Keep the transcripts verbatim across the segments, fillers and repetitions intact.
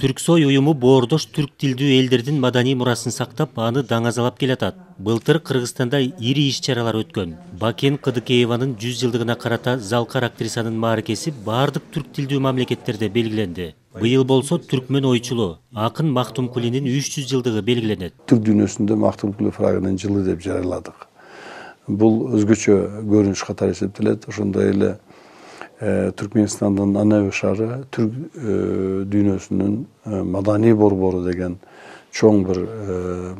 Түрксой уюму боордош түрк тилдүү элдердин маданий мурасын сактап, аны даңазалап келатат. Былтыр Кыргызстанда ири иш-чаралар өткөн. Бакен Кыдыкееванын жүз жылдыгына карата залкар актрисанын мааракеси бардык түрк тилдүү мамлекеттерде белгиленди. Быйыл болсо түркмөн ойчулу акын Мактумкулинин үч жүз жылдыгы белгиленет. Түрк дүйнөсүндө Мактумкули фрагынын жылы деп жарыяладык. Бул өзгөчө көрүнүш катары эсептелет. Ошондой эле Түркменстандын Анабе шаары түрк дүйнөсүнүн маданий борбору деген чоң бир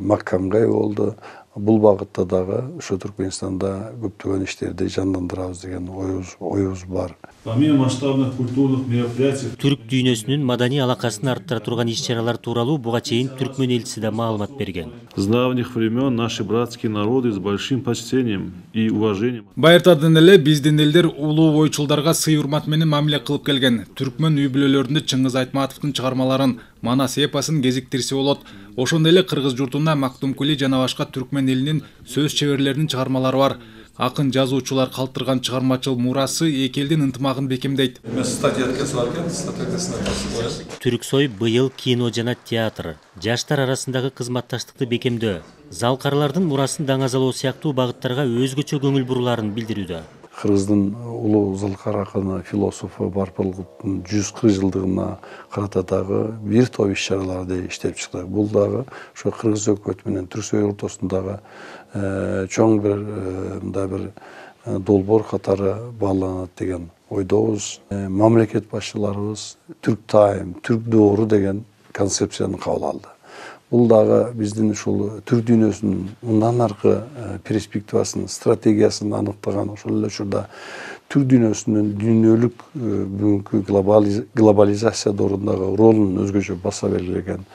макамга ээ болду. Бул багытта дагы ошо Түркменстанда көптөгөн иштерди жандандырабыз деген оюбуз оюбуз бар. Помимо масштабных культурных мероприятий, Түрк дүйнөсүнүн маданий алакасын арттыра турган иш-чаралар тууралуу буга чейин түркмөн элчиси да маалымат берген. С давних времен наши братские народы с большим почтением и уважением. Байыртадан эле биздин элдер улуу ойчулдарга сый урмат менен мамиле кылып келген. Түркмөн үй бүлөлөрүндө Чыңгыз Айтматовдун чыгармаларын, Манас эпосун кезиктирсе болот. Ошондой эле кыргыз журтунда Мактумкули жана башка түркмөн элинин сөз чеберлеринин чыгармалары бар. Акын жазуучулар калтырган чыгармачыл мурасы эки элдин ынтымагын бекемдейт. Түрксой быйыл кино жана театр, жаштар арасындагы кызматташтыкты бекемдөө, залкарлардын мурасын даңазалоо сыяктуу багыттарга өзгөчө көңүл бурулаарын билдирүүдө. Кыргыздын улуу залкар акыны, философу Барпалгуттун жүз кырк жылдыгына карата дагы бир топ иш-чараларды иштеп чыктык. Бул дагы ошо кыргыз өкмөтү менен Түрксой ортосундагы чоң бир мындай бир долбоор катары бааланат деген ойдобуз. Мамлекет башчыларыбыз Түрк тайм, Түрк доору деген концепцияны кабыл алды. Бул дагы биздин ушул түрк дүйнөсүнүн мындан аркы перспективасын, стратегиясын аныктаган. Ошол эле учурда түрк дүйнөсүнүн дүйнөлүк бүгүнкү глобализация доорундағы ролун өзгөчө баса белгилеген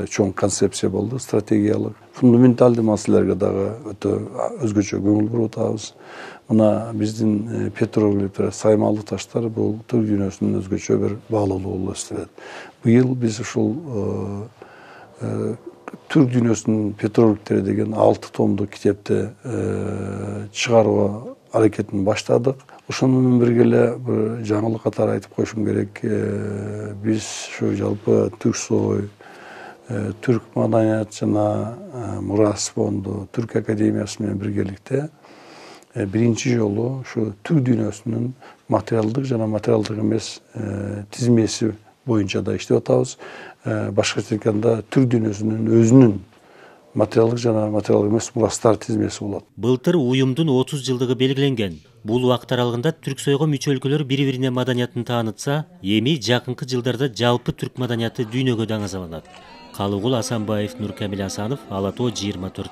чоң концепция болду, стратегиялык. Фундаменталдуу маселелерге дагы өтө өзгөчө көңүл буруп атабыз. Мына биздин петроглифтер, саймалуу таштар бул түрк дүйнөсүнүн өзгөчө бир баалуулугу болуп эстелет. Быйыл биз ушул түрк дүйнөсүнүн петроглифтери деген алты томдук китепти чыгарууга аракетин баштадык. Ошону менен бирге эле бир жаңылык катары айтып коюшум керек. Биз ушу жалпы Түрксой, Түрк маданият жана мурас фонду, Түрк академиясы менен биргеликте биринчи жолу ушу түрк дүйнөсүнүн материалдык жана материалдык эмес тизмеси боюнча да иштеп атабыз. Башкача айтканда түрк дүйнөсүнүн өзүнүн материалдык жана материалдык эмес мурастар тизмеси болот. Былтыр уюмдун отуз жылдыгы белгиленген. Бул убакыт аралыгында Түрксойго мүчө өлкөлөр бири-бирине маданиятын таанытса, эми жакынкы жылдарда жалпы түрк маданияты дүйнөгө даңазаланат. Калыгул Асанбаев, Нуркамил Асанов, Ала тоо жыйырма төрт.